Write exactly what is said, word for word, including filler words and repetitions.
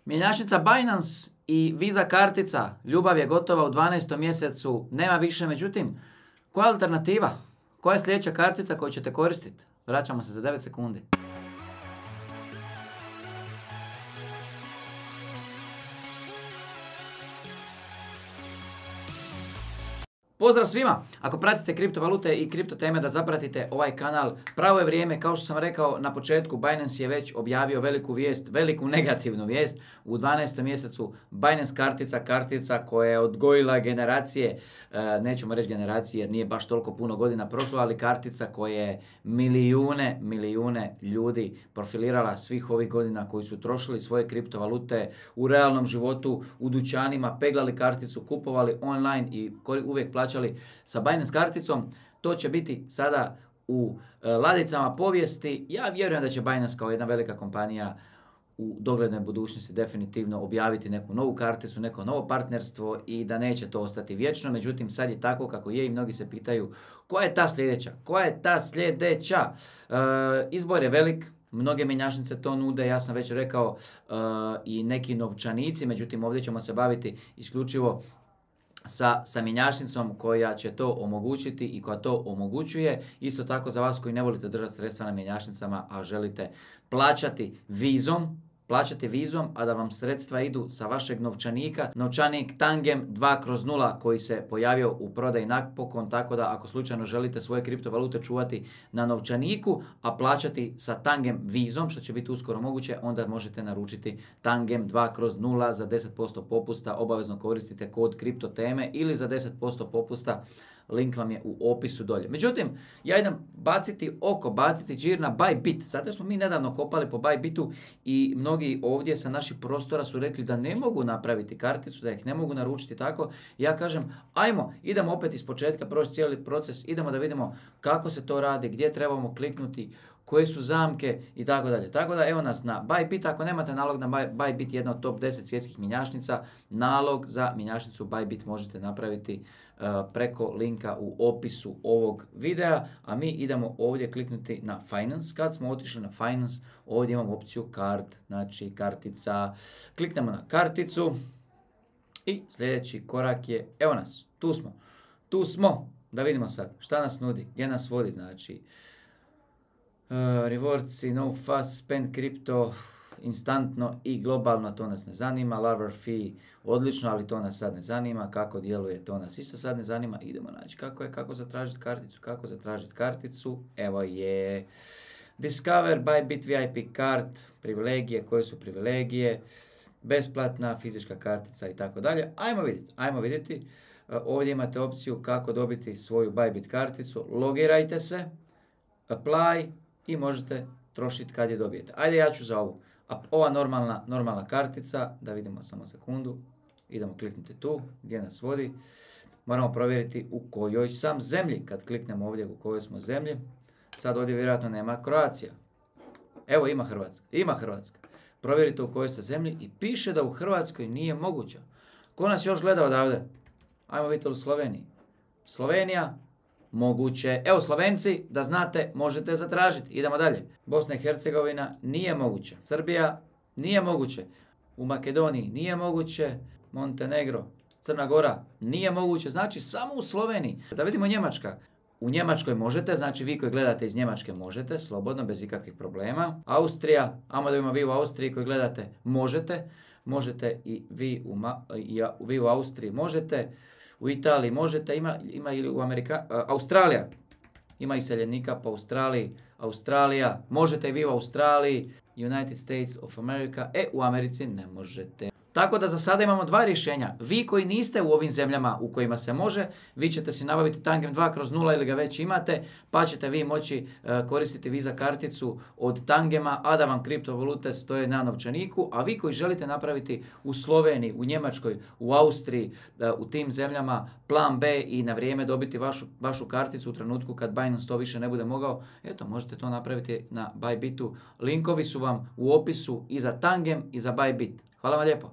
Mjenjačnica Binance i Visa kartica, ljubav je gotova u dvanaestom mjesecu, nema više, međutim, koja je alternativa? Koja je sljedeća kartica koju ćete koristiti? Vraćamo se za devet sekundi. Pozdrav svima! Ako pratite kriptovalute i kripto teme da zapratite ovaj kanal, pravo je vrijeme. Kao što sam rekao na početku, Binance je već objavio veliku vijest, veliku negativnu vijest. U dvanaestom mjesecu Binance kartica, kartica koja je odgojila generacije, nećemo reći generacije jer nije baš toliko puno godina prošlo, ali kartica koja je milijune, milijune ljudi profilirala svih ovih godina koji su trošili svoje kriptovalute u realnom životu, u dućanima, peglali karticu, kupovali online i uvijek plaćali sa Binance karticom. To će biti sada u e, ladicama povijesti. Ja vjerujem da će Binance kao jedna velika kompanija u doglednoj budućnosti definitivno objaviti neku novu karticu, neko novo partnerstvo i da neće to ostati vječno. Međutim, sad je tako kako je i mnogi se pitaju koja je ta sljedeća? Koja je ta sljedeća? E, izbor je velik. Mnoge mjenjačnice to nude, ja sam već rekao, e, i neki novčanici. Međutim, ovdje ćemo se baviti isključivo sa, sa mjenjačnicom koja će to omogućiti i koja to omogućuje. Isto tako za vas koji ne volite držati sredstva na mjenjačnicama, a želite plaćati vizom, plaćati vizom, a da vam sredstva idu sa vašeg novčanika. Novčanik Tangem dva kroz nula koji se pojavio u prodaji napokon, tako da ako slučajno želite svoje kriptovalute čuvati na novčaniku, a plaćati sa Tangem vizom, što će biti uskoro moguće, onda možete naručiti Tangem dva kroz nula za deset posto popusta. Obavezno koristite kod kripto teme ili za deset posto popusta. Link vam je u opisu dolje. Međutim, ja idem baciti oko, baciti džir na Bybit. Zato smo mi nedavno kopali po Bybitu i mnogi ovdje sa naših prostora su rekli da ne mogu napraviti karticu, da ih ne mogu naručiti tako. Ja kažem, ajmo, idemo opet iz početka proći cijeli proces, idemo da vidimo kako se to radi, gdje trebamo kliknuti, koje su zamke i tako dalje. Tako da evo nas na Bybit. Ako nemate nalog na Bybit, jedna od top deset svjetskih mjenjačnica, nalog za mjenjačnicu Bybit možete napraviti uh, preko linka u opisu ovog videa. A mi idemo ovdje kliknuti na Finance. Kad smo otišli na Finance, ovdje imamo opciju Card, znači kartica. Kliknemo na karticu i sljedeći korak je, evo nas, tu smo. Tu smo, da vidimo sad šta nas nudi, gdje nas vodi, znači Uh, rewards i no fast spend kripto instantno i globalno, to nas ne zanima. Larvar fee odlično, ali to nas sad ne zanima. Kako djeluje, to nas isto sad ne zanima. Idemo naći kako je, kako zatražiti karticu, kako zatražiti karticu. Evo je Discover Bybit V I P card, privilegije, koje su privilegije, besplatna fizička kartica i tako dalje. Ajmo vidjeti, ajmo vidjeti. Uh, ovdje imate opciju kako dobiti svoju Bybit karticu. Logirajte se, apply i možete trošiti kad je dobijete. Ajde, ja ću za ovu. A ova normalna, normalna kartica, da vidimo samo sekundu. Idemo kliknuti tu, gdje nas vodi. Moramo provjeriti u kojoj sam zemlji. Kad kliknemo ovdje u kojoj smo zemlji. Sad ovdje vjerojatno nema Croatia. Evo, ima Hrvatska. Ima Hrvatska. Provjerite u kojoj ste zemlji i piše da u Hrvatskoj nije moguća. Ko nas još gleda odavde? Ajmo vidjeti u Sloveniji. Slovenija. Moguće. Evo Slovenci, da znate, možete zatražiti. Idemo dalje. Bosna i Hercegovina nije moguće. Srbija nije moguće. U Makedoniji nije moguće. Montenegro, Crna Gora nije moguće. Znači samo u Sloveniji. Da vidimo Njemačka. U Njemačkoj možete, znači vi koji gledate iz Njemačke možete, slobodno, bez ikakvih problema. Austrija, ajmo da vidimo vi u Austriji koji gledate, možete. Možete i vi u, Ma, i vi u Austriji možete. U Italiji možete, ima, ima ili u Amerika, uh, Australija, ima iseljenika po Australiji, Australija, možete i vi u Australiji, United States of America, e u Americi ne možete. Tako da za sada imamo dva rješenja. Vi koji niste u ovim zemljama u kojima se može, vi ćete si nabaviti Tangem dva kroz nula ili ga već imate, pa ćete vi moći uh, koristiti Visa karticu od Tangema, a da vam kriptovalute stoje na novčaniku. A vi koji želite napraviti u Sloveniji, u Njemačkoj, u Austriji, uh, u tim zemljama plan B i na vrijeme dobiti vašu, vašu karticu u trenutku kad Binance to više ne bude mogao, eto, možete to napraviti na Bybitu. Linkovi su vam u opisu i za Tangem i za Bybit. Hvala vam lijepo.